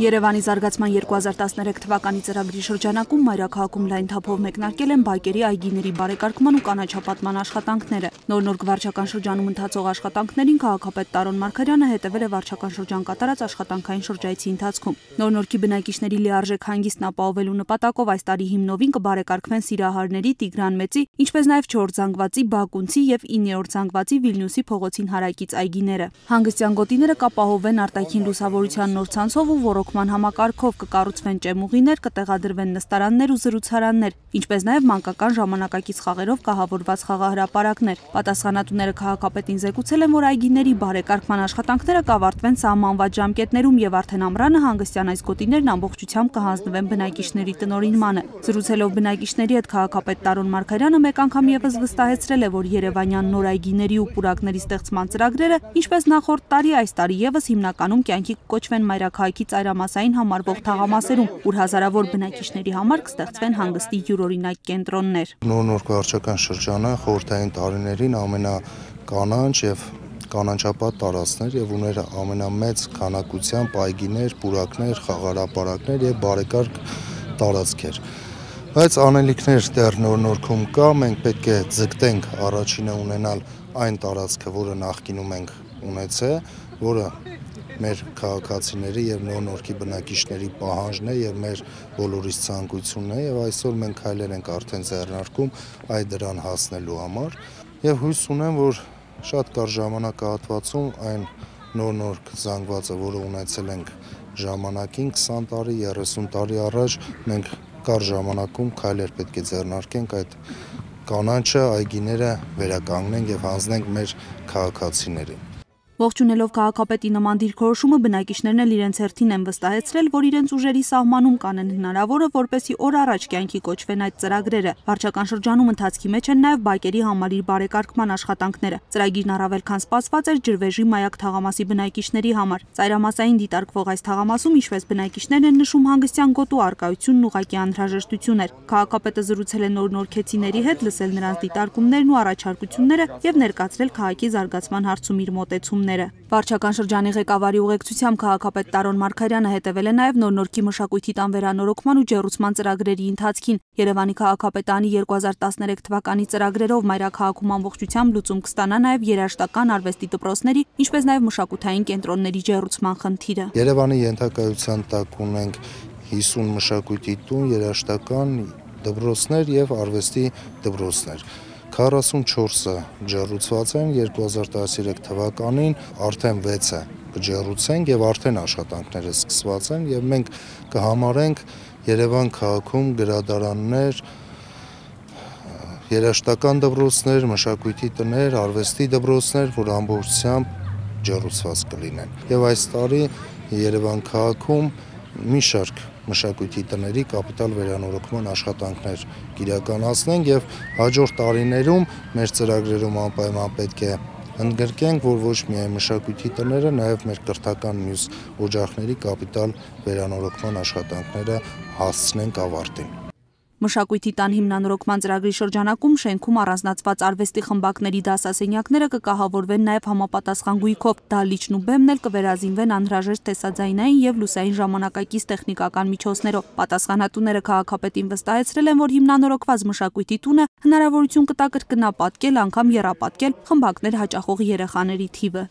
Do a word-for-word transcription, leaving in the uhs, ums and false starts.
Երևանի զարգացման երկու հազար տասներեք թվականի ծրագրի շրջանակում մայրաքաղաքում լայն թափով մեկնարկել են բակերի այգիների բարեկարգման ու կանաչապատման աշխատանքները։ Նոր-նոր վարչական շրջանում ընթացող աշխատանքներին քաղաքապետ Տարոն Մարգարյանը հետևել է վարչական շրջան կատարած աշխատանքային շրջայցի ընթացքում։ Նոր-նորքի բնակիչների լիարժեք հանգիստն ապահովելու նպատակով այս տարի հիմնովին կբարեկարգվեն Սիրահարների, Տիգրան Մեծի, ինչպես նաև չորրորդ զանգվածի, Բակունցի եւ իններորդ զանգվածի Վիլնյուսի փողոցին հարակից այգիները։ Հանգստյան գոտիները կապահովվեն արտաքին լուսավորության նոր ցանցով ու ոռոգման համակարգով, կկառուցվեն ճեմուղիներ, կտեղադրվեն նստարաններ ու զրուցարաններ, ինչպես նաև մանկական ժամանակակից խաղերով կահավորված խաղահրապարակներ։ Պատասխանատուները քաղաքապետին զեկուցել են, որ այգիների բարեկարգման աշխատանքները կավարտվեն սահմանված ժամկետներում եւ արդեն ամռանը հանգստյան այս գոտիներն ամբողջությամբ կհանձնվեն բնակիչների տնօրինմանը։ Զրուցելով բնակիչների հետ քաղաքապետ Տարոն Մարգարյանը մեկ անգամ եւս վստահեցրել է, որ երևանյան նոր այգիների ու պուրակների ստեղծման ծրագրերը, ինչպես նախորդ տարի, այս տարի եւս հիմնականում կյանքի կկոչվեն մայրաքաղաքի ծայրամասային համարվող թաղամասերում, ուր հազարավոր բնակիչների համար կստեղծվեն հանգստի յուրօրինակ կենտրոններ։ Նոր-նոր վարչական շրջանը խորհրդային տարիներին ամենականանչ եւ կանաչապատ տարածքներ եւ ուներ ամենամեծ քանակությամբ այգիներ, պուրակներ, խաղահրապարակներ եւ բարեկարգ տարածքեր։ Բայց անելիքներ դեռ նոր-նորքում կա, մենք պետք է ձգտենք առաջինը ունենալ այն տարածքը, որը նախկինում ենք ունեցել, որը մեր քաղաքացիների եւ նոր-նորքի բնակիչների պահանջն է եւ մեր բոլորիս ցանկությունն է եւ այսօր մենք քայլեր ենք արդեն ձեռնարկում այդ դրան հասնելու համար եւ հույս ունեմ, որ շատ կարճ ժամանակահատվածում այն նոր-նորք զանգվածը, որը ունեցել ենք ժամանակին քսան տարի, երեսուն տարի առաջ, մենք կարճ ժամանակում քայլեր պետք է ձեռնարկենք այդ կանաչը, այգիները վերականգնենք եւ հանձնենք մեր քաղաքացիներին։ Ողջունելով քաղաքապետի նման դիրքորոշումը, բնակիչներն էլ իրենց հերթին են վստահեցրել, որ իրենց ուժերի սահմանում կանեն հնարավորը, որպեսզի օր առաջ կյանքի կոչվեն այդ ծրագրերը։ Վարչական շրջանում ընթացքի մեջ են նաև բակերի համալիր բարեկարգման աշխատանքները։ Ծրագիրն առավել քան սպասված էր ջրվեժի Մայակ թաղամասի բնակիչների համար։ Ծայրամասային դիտարկվող այս թաղամասում, ինչպես բնակիչներն են նշում, հանգստյան գոտու առկայությունն ուղղակի անհրաժեշտություն էր։ Քաղաքապետը զրուցել է նոր-նորքեցիների հետ, լսել նրանց դիտարկումներն ու առաջարկությունները եւ ներկայացրել քաղաքի զարգացման հարցում իր մոտեցումները։ Վարչական շրջանի ղեկավարի ուղեկցությամբ քաղաքապետ Տարոն Մարգարյանը հետևել է նաև նոր-նորքի մշակույթի տան վերանորոգման ու ջեռուցման ծրագրերի ընթացքին։ Երևանի քաղաքապետարանի երկու հազար տասներեք թվականի ծրագրերով մայրաքաղաքում ամբողջությամբ լուծում կստանա նաև երաժշտական արվեստի դպրոցների, ինչպես նաև մշակութային կենտրոնների ջեռուցման խնդիրը։ Երևանի ենթակայության տակ ունենք հիսուն մշակույթի տուն, երաժշտական դպրոցներ եւ արվեստի դպրոցներ։ քառասունչորսը ջեռուցված են, երկու հազար տասներեք թվականին արդեն վեցը կջեռուցենք եւ արդեն աշխատանքները սկսված են եւ մենք կհամարենք Երևան քաղաքում գրադարաններ, երաժշտական դպրոցներ, մշակույթի տներ, արվեստի դպրոցներ, որ ամբողջությամբ ջեռուցված կլինեն։ Եվ այս տարի Երևան քաղաքում մի շարք մշակույթի տների կապիտալ վերանորոգման աշխատանքներ կիրականացնենք եւ հաջորդ տարիներում մեր ծրագրերում անպայման պետք է ընդգրկենք, որ ոչ միայն մշակույթի տները, նաեւ մեր կրթական մյուս օջախների կապիտալ վերանորոգման աշխատանքները հասցնենք ավարտին։ Մշակույթի տան հիմնանորոգման ծրագրի շրջանակում շենքում առանձնացված արվեստի խմբակների դասասենյակները կկահավորվեն նաև համապատասխան գույքով, դահլիճն ու բեմն էլ կվերազինվեն անհրաժեշտ տեսաձայնային եւ լուսային ժամանակակից տեխնիկական միջոցներով։ Պատասխանատուները քաղաքապետին վստահեցրել են, որ հիմնանորոգված մշակույթի տունը հնարավորություն կտա կրկնապատկել, անգամ եռապատկել խմբակներ հաճախող երեխաների թիվը։